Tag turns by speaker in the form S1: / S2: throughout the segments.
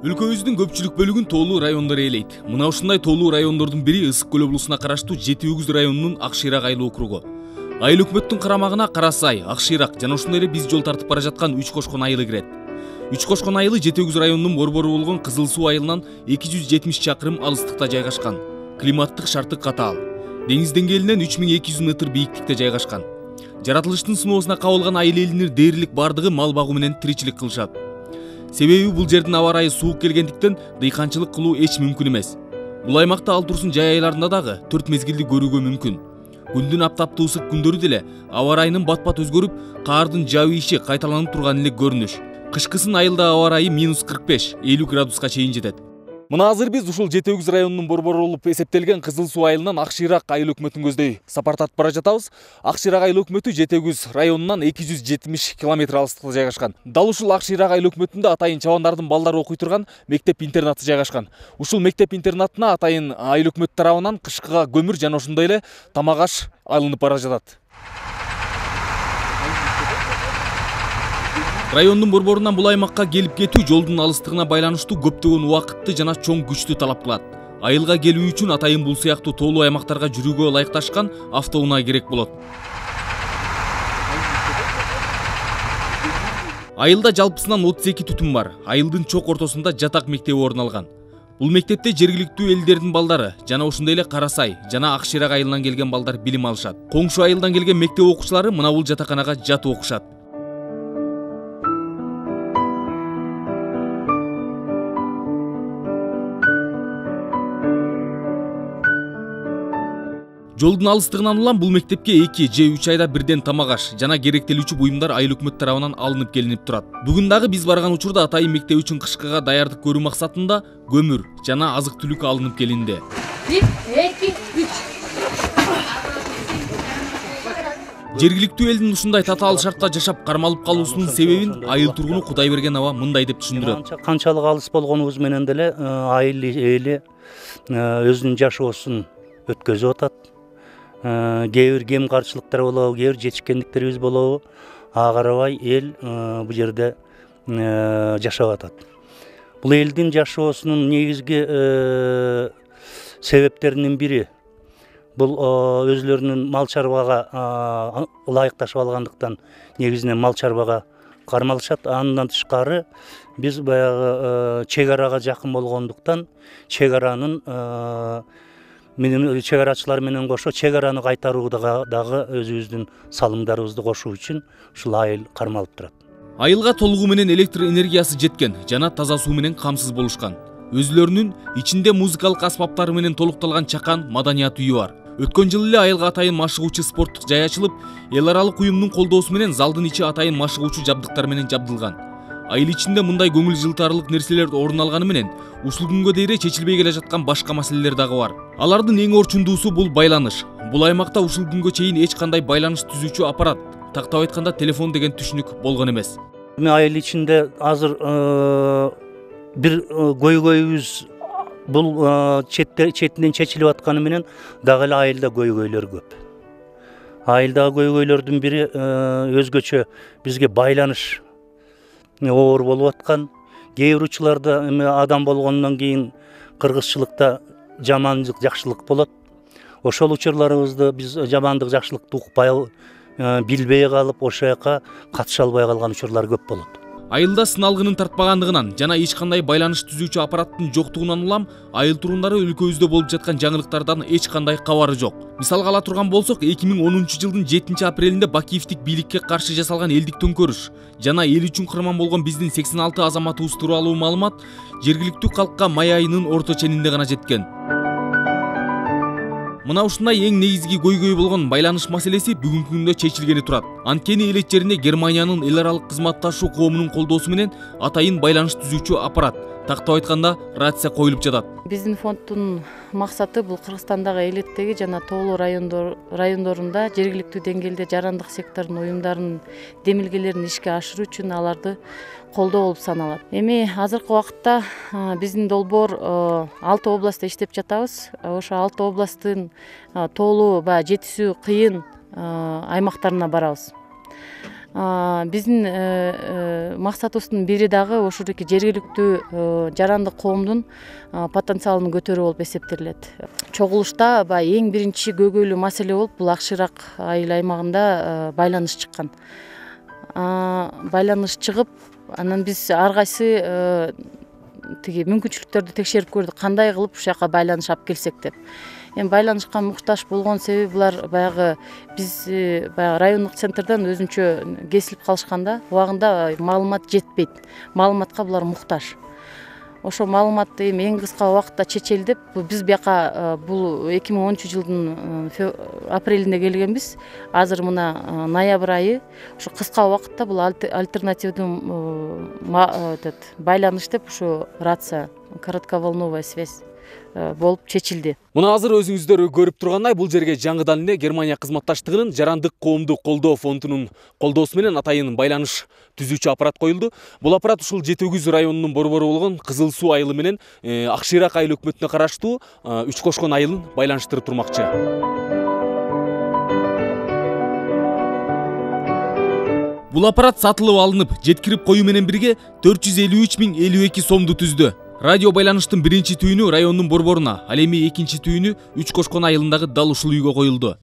S1: Өлкөбүздүн көпчүлүк бөлүгүн тоолуу райондор ээлейт. Мына ушундай тоолуу райондордун бири Ысык көл облусуна караштуу Жети Өгүз районунун Ак Шыйрак айыл округу. Айыл өкмөттүн карамагына Кара Сай, Ак Шыйрак жана ошондой эле биз жол тартып бара жаткан Үч Кошкон айылы кирет. Үч Кошкон айылы Жети Өгүз районунун борбору болгон Кызыл Суу айылынан 270 чакырым алыстыкта жайгашкан. Климаттык шарты катаал. Деңиз деңгээлинен 3200 метр бийиктикте жайгашкан. Жаратылыштын сыноосуна кабылган айыл элинин дээрлик бардыгы мал багуу менен тиричилик кылышат. Себеби бул жердин аба ырайы суук келгендиктен дыйканчылык кылуу эч мүмкүн эмес. Бул аймакта ал турсун жай айларында дагы 4 мезгилди көрүүгө мүмкүн. Күндүн аптаптуу ысык күндөрү деле аба ырайынын бат-бат өзгөрүп, каардын жаабыйышы кайталанып турган эле көрүнүш. Кышкысын айылда аба ырайы -45-50 градуска чейин жетет. Мына азыр биз ушул Жети Өгүз районунун борбору болуп эсептелген Кызыл Суу айылынан Ак Шыйрак айыл өкмөтүн көздөй сапар тартып бара жатабыз. Ак Шыйрак айыл өкмөтү Жети Өгүз районунан 270 километр алыстыкта жайгашкан. Дал ушул Ак Шыйрак айыл өкмөтүндө атайын чабандардын балдары окуй турган мектеп-интернаты жайгашкан. Ушул мектеп-интернатына атайын айыл өкмөт тарабынан кышкыга көмүр жана ошондой эле тамак аш алынып бара жатат. Райондун борборунан бул аймакка келип кетүү жолдун алыстыгына байланыштуу көптөгөн убакытты жана чоң күчтү талап кылат. Айылга келүү үчүн атайын бул сыяктуу тоолуу аймактарга жүрүүгө ылайыкташкан автоунаа керек болот. Айылда жалпысынан 32 түтүн бар. Айылдын чок ортосунда жатак мектеби орун алган. Бул мектепте жергиликтүү элдердин балдары жана ошондой эле Кара Сай жана Ак Шыйрак айылынан келген балдар билим алышат. Коңшу айылдан келген мектеп окуучулары мына бул жатаканага жатып окушат. Жолдун алыстыгынан улам бул мектепке 2 же 3 айда бирден тамак аш жана керектелүүчү буюмдар айыл өкмөт тарабынан алынып келинип турат. Бүгүн дагы биз барган учурда атайын мектеп үчүн кышкыга даярдык көрүү максатында көмүр жана азык-түлүк алынып келинди.
S2: 1, 2, 3.
S1: Жергиликтүү элдин ушундай татаал шартта жашап кармалып калуусунун себебин айыл тургуну Кудайберген аба мындай деп түшүндүрөт.
S3: Канчалык алыс болгонубуз менен деле айыл эли өзүнүн жашоосун өткөзүп атат. Кээ бир кем карчылыктар болобу, кээ бир жетишкендиктерибиз болобу, ага карабай эл бул жерде жашап атат. Бул элдин жашоосунун негизги себептеринин бири бул өзлөрүнүн мал чарбага ылайыкташып алгандыктан негизинен мал чарбага кармалышат. Андан тышкары биз баягы чек арага жакын болгондуктан чек аранын чек арачылар менен кошо чек араны кайтарууга дагы өзүбүздүн салымдарыбызды кошуу үчүн ушул айыл кармалып турат.
S1: Айылга толугу менен электр энергиясы жеткен жана таза суу менен камсыз болушкан. Өзүлөрүнүн ичинде музыкалык аспаптары менен толукталган чакан маданият үйү бар. Өткөн жылы эле айылга атайын машыгуучу спорттук жай ачылып, эл аралык уюмдун колдоосу менен залдын ичи атайын машыгуучу жабдыктар менен жабдылган. Айыл ичинде мындай көңүл жылтарлык нерселер орун алганы менен ушул күнгө дейре чечилбей келе жаткан башка маселелер дагы бар. Алардын эң орчундуусу бул байланыш. Бул аймакта ушул күнгө чейин эч кандай байланыш түзүүчү аппарат, тактап айтканда телефон деген түшүнүк болгон эмес.
S3: Айыл ичинде азыр бир көйгөйүбүз бул четинен чечилип атканы менен дагы эле айылда көйгөйлөр көп. Айылдагы көйгөйлөрдүн бири өзгөчө бизге байланыш оор болуп аткан. Кээ бир учурларда адам болгондон кийин кыргызчылыкта жамандык жакшылык болот. Ошол учурларыбызды биз жамандык жакшылыкты укпай билбей калып, ошол жака катыша албай калган учурлар көп болот.
S1: Айылда сыналгынын тартпагандыгынан жана эч кандай байланыш түзүүчү аппараттын жоктугунан улам айыл тургундары өлкөбүздө болуп жаткан жаңылыктардан эч кандай кабары жок. Мисалга ала турган болсок, 2010 жылдын 7 апрелинде Бакиевдик бийликке каршы жасалган элдик төңкөрүш жана эл үчүн кырман болгон биздин 86 азаматыбыз тууралуу маалымат жергиликтүү калкка май айынын орто ченинде гана жеткен. Мына ушундай эң негизги көйгөй болгон байланыш маселеси бүгүнкү күндө чечилгени турат. Анткени эл жерине Германиянын эл аралык кызматташуу коомунун колдоосу менен атайын байланыш түзүүчү аппарат, тактап айтканда рация коюлуп жатат.
S2: Биздин фонддун максаты бул Кыргызстандагы элеттеги жана тоолуу райондорунда жергиликтүү деңгээлде жарандык сектордун уюмдарынын демилгелерин ишке ашыруу үчүн аларды колдоо болуп саналат. Эми азыркы убакытта биздин долбоор 6 областта иштеп жатабыз. Ошо 6 областтын тоолуу жетишүү кыйын аймактарына барабыз. Биздин максатыбыздын бири дагы ошодоки жергиликтүү жарандык коомдун потенциалын көтөрүү болуп эсептелет. Чогулушта баягы эң биринчи көйгөйлүү маселе болуп бул Акшыйрак айыл аймагында байланыш чыккан. Байланыш чыгып, анан биз ар кайсы тиги мүмкүнчүлүктөрдү текшерип көрдүк, кандай кылып ушул жака байланыш алып келсек деп. Эми байланышка муктаж болгон себеби булар баягы биз баягы райондук центрден өзүнчө кесилип калышканда убагында маалымат жетпейт. Маалыматка булар муктаж. Ошо маалыматты эми эң кыска убакытта чечели деп биз бияка бул 2013-жылдын апрелинде келгенбиз. Азыр мына ноябрь айы ошо кыска убакытта бул альтернативдүү байланыш деп ушу рация, коротковолновая связь болуп чечилди.
S1: Мына азыр өзүңүздөр көрүп тургандай, бул жерге жаңыдан эле Германия кызматташтыгынын жарандык коомду колдоо фондунун колдоосу менен атайын байланыш түзүүчү аппарат коюлду. Бул аппарат ушул Жети Өгүз районунун борбору болгон Кызыл Суу айылы менен Акшыйрак айыл өкмөтүнө караштуу Үч Кошкон айылын байланыштырып турмакчы. Бул аппарат сатылып алынып, жеткирип коюу менен бирге 453.052 сомду түздү. Радио байланыштын биринчи түйүнү райондун борборуна, ал эми экинчи түйүнү Үч Кошкон айылындагы дал ушул үйгө коюлду.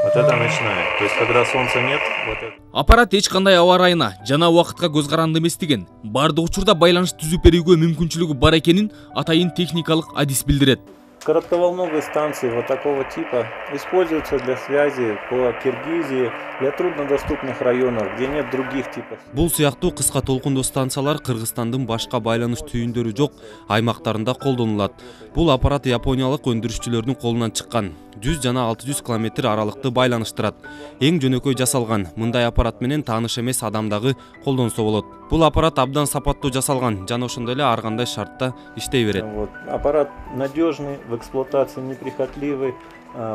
S4: Вот это начинает. То есть, когда солнца нет, вот это.
S1: Аппарат эч кандай аба ырайына жана убакытка көз каранды эмес деген. Бардык учурда байланыш түзүп берүүгө мүмкүнчүлүгү бар экенин атайын техникалык адис билдирет.
S4: Коротковолновые станции вот такого типа используются для связи по Киргизии, для труднодоступных районов, где нет других типов.
S5: Бул сыяктуу кыска толкундуу станциялар Кыргызстандын башка байланыш түйүндөрү жок аймактарында колдонулат. Бул аппарат япониялык өндүрүшчүлөрдүн колунан чыккан. 100 жана 600 километр аралыкты байланыштырат. Эң жөнөкөй жасалган. Мындай аппарат менен тааныш эмес адам дагы колдонсо болот. Бул аппарат абдан сапаттуу жасалган жана ошондой эле ар кандай шартта иштей берет.
S4: Аппарат надежный, в эксплуатации неприхотливый,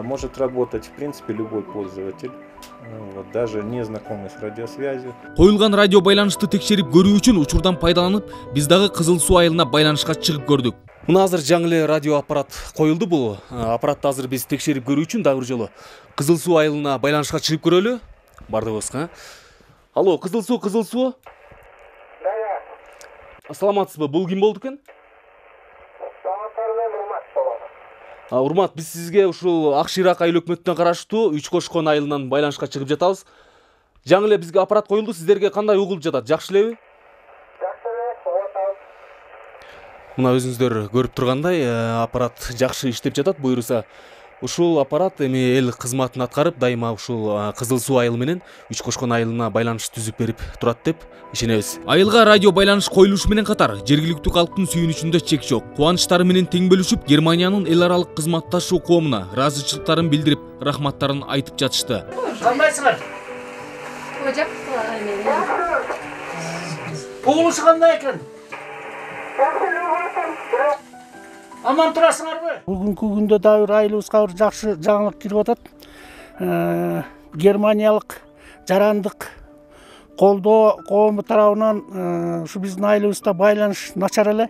S4: может работать в принципе любой пользователь. Даже не знакомый с радиосвязью.
S1: Коюлган радио байланышты текшерип көрүү үчүн учурдан пайдаланып, биз дагы Кызыл Суу айылына байланышка чыгып көрдүк. Мына азыр жаңы эле радио аппарат коюлду. Бул аппаратты азыр биз текшерип көрүү үчүн дагы бир жолу Кызыл Суу айылына байланышка чыгып көрөлү. Бардыгыбызга. Алло, Кызыл Суу, Кызыл Суу. Саламатсызбы? Бул ким болду экен? Урмат, биз сизге ушул Акшыйрак айыл өкмөтүнө караштуу Үч Кошкон айылынан байланышка чыгып жатабыз. Жаңы эле бизге аппарат коюлду. Сиздерге кандай угулуп жатат? Жакшы элеби? Мына өзүңүздөр көрүп тургандай, аппарат жакшы иштеп жатат. Буюрса, ушул аппарат эми эл кызматын аткарып, дайыма ушул Кызыл Суу айылы менен Үч Кошкон айылына байланыш түзүп берип турат деп ишенебиз. Айылга радио байланыш коюлушу менен катар жергиликтүү калктын сүйүнүчүндө чек жок. Кубанычтары менен тең бөлүшүп, Германиянын эл аралык кызматташуу коомуна ыраазычылыктарын билдирип, рахматтарын айтып жатышты.
S6: Кандайсыңар? Угулушу кандай экен? Аман турасыңарбы? Бүгүнкү күндө дагы бир айылыбызга бир жакшы жаңылык кирип атат. Германиялык жарандык колдоо коому тарабынан ушу биздин айылыбызда байланыш начар эле.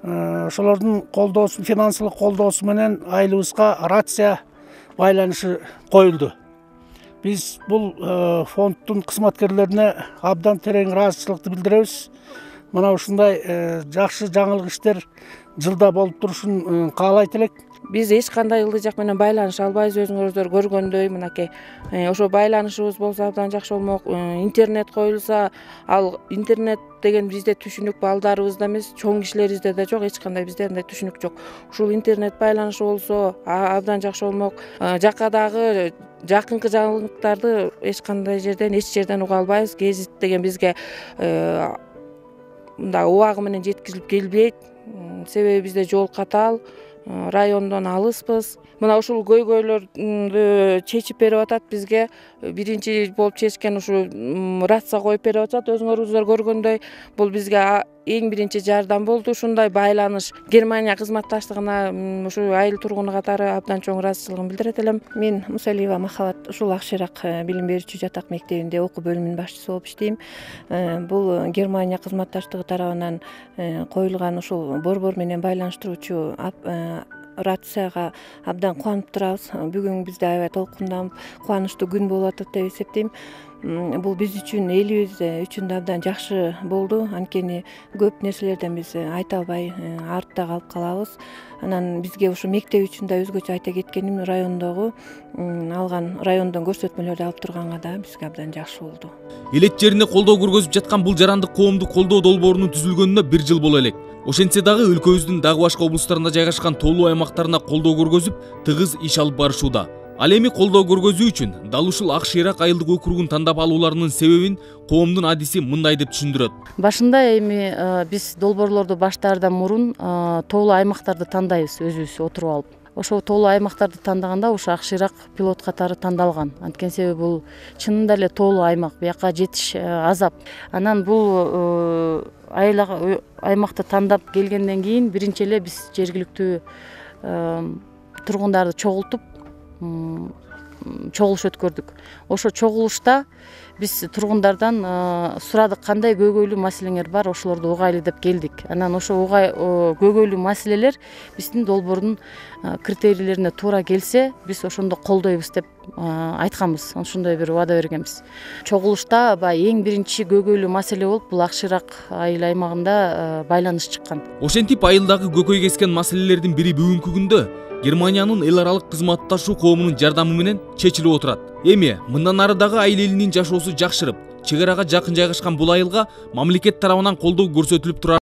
S6: Ошолордун колдоосу, финансылык колдоосу менен айылыбызга рация байланышы коюлду. Биз бул фонддун кызматкерлерине абдан терең ыраазычылыкты билдиребиз. Мына ушундай жакшы жаңылык иштер жылда болуп турушун каалайт элек.
S7: Биз эч кандай ылдый жак менен байланыша албайбыз, өзүңүздөр көргөндөй мынакей. Ошо байланышыбыз болсо абдан жакшы болмок. Интернет коюлса, ал интернет деген бизде түшүнүк балдарыбызда эмес, чоң кишилерибизде да жок, эч кандай бизде андай түшүнүк жок. Ушул интернет байланышы болсо абдан жакшы болмок. Жакадагы жакынкы жаңылыктарды эч кандай жерден, эч жерден уга албайбыз. Гезит деген бизге мындай убагы менен жеткизилип келбейт. Себеби бизде жол катаал, райондон алыспыз. Мына ушул көйгөйлөрдү чечип берип атат бизге. Биринчи болуп чечкен ушу рация коюп берип атат. Өзүңөрүздөр көргөндөй, бул бизге эң биринчи жардам болду. Ушундай байланыш Германия кызматташтыгына ушу айыл тургуну катары абдан чоң ыраазычылыгымды билдирет элем.
S8: Мен Мусалиева Махабат, ушул Акшыйрак билим берүүчү жатак мектебинде окуу бөлүмүнүн башчысы болуп иштейм. Бул Германия кызматташтыгы тарабынан коюлган ушул борбор менен байланыштыруучу рацияга абдан кубанып турабыз. Бүгүн бизде аябай толкунданып, кубанычтуу күн болуп атат деп эсептейм. бул биз үчүн, элибиз үчүн да абдан жакшы болду. Анткени көп нерселерден биз айта албай артта калып калабыз. Анан бизге ушу мектеп үчүн да өзгөчө айта кеткеним, райондогу алган райондон көрсөтмөлөрдү алып турганга да бизге абдан жакшы болду.
S1: Элет жерине колдоо көргөзүп жаткан бул жарандык коомдук колдоо долбоорунун түзүлгөнүнө 1 жыл боло элек. Ошентсе дагы өлкөбүздүн дагы башка облустарында жайгашкан тоолуу аймактарына колдоо көргөзүп, тыгыз иш алып барышууда. Ал эми колдоо көргөзүү үчүн дал ушул Ак Шыйрак айылдык округун тандап алууларынын себебин коомдун адиси мындай деп түшүндүрөт.
S2: Башында эми биз долбоорлорду баштаардан мурун тоолуу аймактарды тандайбыз өзүбүз отуруп алып. Ошол тоолуу аймактарды тандаганда ушу Ак Шыйрак пилот катары тандалган. Анткени себеби бул чынында эле тоолуу аймак, бияка жетиш азап. Анан бул аймакты тандап келгенден кийин биринчи эле биз жергиликтүү тургундарды чогултуп чогулуш өткөрдүк. Ошо чогулушта биз тургундардан сурадык, кандай көйгөйлүү маселеңер бар, ошолорду угайлы деп келдик. Анан ошо көйгөйлүү маселелер биздин долбоордун критерийлерине туура келсе, биз ошондо колдойбуз деп айтканбыз. Ошондой бир убада бергенбиз. Чогулушта эң биринчи көйгөйлүү маселе болуп, бул Ак Шыйрак айыл аймагында байланыш чыккан.
S1: Ошентип айылдагы көкөй кескен маселелердин бири бүгүнкү күндө Германиянын эл аралык кызматташуу коомунун жардамы менен чечилип отурат. Эми мындан ары дагы айыл элинин жашоосу жакшырып, чек арага жакын жайгашкан бул айылга мамлекет тарабынан колдоо көрсөтүлүп турат.